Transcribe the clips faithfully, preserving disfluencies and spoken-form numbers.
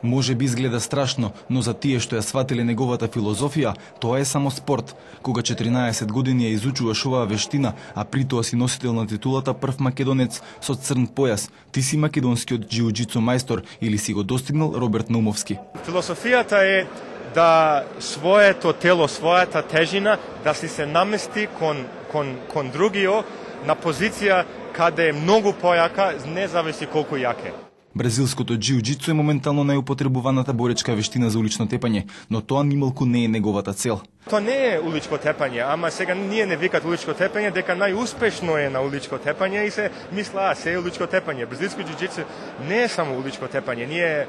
Може би изгледа страшно, но за тие што ја сватиле неговата филозофија, тоа е само спорт. Кога четиринаесет години ја изучуваш оваа вештина, а при тоа си носител на титулата прв македонец со црн појас, ти си македонскиот џиу-џицу мајстор или си го достигнал Роберт Наумовски. Философијата е да своето тело, својата тежина, да си се намести кон, кон, кон другио на позиција каде е многу појака, не зависи колку јак е. Бразилското џиу-џицу е моментално најупотребуваната боречка вештина за улично тепање, но тоа нималку не е неговата цел. Тоа не е уличко тепање, ама сега ние не викат уличко тепање, дека најуспешно е на уличко тепање и се мисла, а се е уличко тепање. Бразилско џиу-џицу не е само уличко тепање. Ние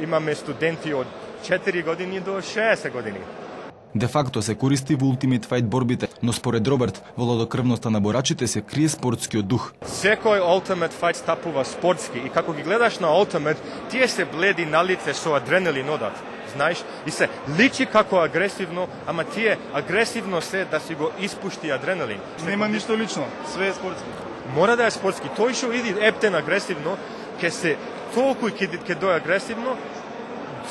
имаме студенти од четири години до шеесет години. Де факто се користи во Ultimate Fight борбите, но според Роберт, во лодокрвноста на борачите се крие спортскиот дух. Секој Ultimate Fight стапува спортски и како ги гледаш на Ultimate, тие се бледи на лице со адреналин одат, знаеш, и се личи како агресивно, ама тие агресивно се да си го испушти адреналин. Нема ништо лично, све е спортски. Мора да е спортски. Тој што иди ептен агресивно, ке се толку и ке, ке дој агресивно,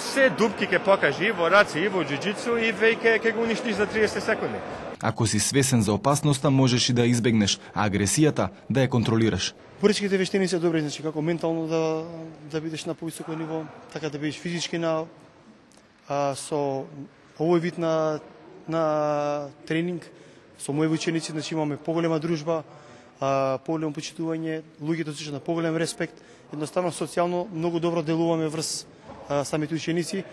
се дупки ке покажи и во раци, и во џиу-џицу, и веќе ке го уништиш за триесет секунди. Ако си свесен за опасноста, можеш и да избегнеш, а агресијата да ја контролираш. Боречките вештини се добри, значи како ментално да да бидеш на повисоко ниво, така да бидеш физички на а, со овој вид на на тренинг, со мои ученици, значи имаме поголема дружба, а, поголемо почитување, луѓето се на поголем респект, едноставно социјално многу добро делуваме врз самите ученици.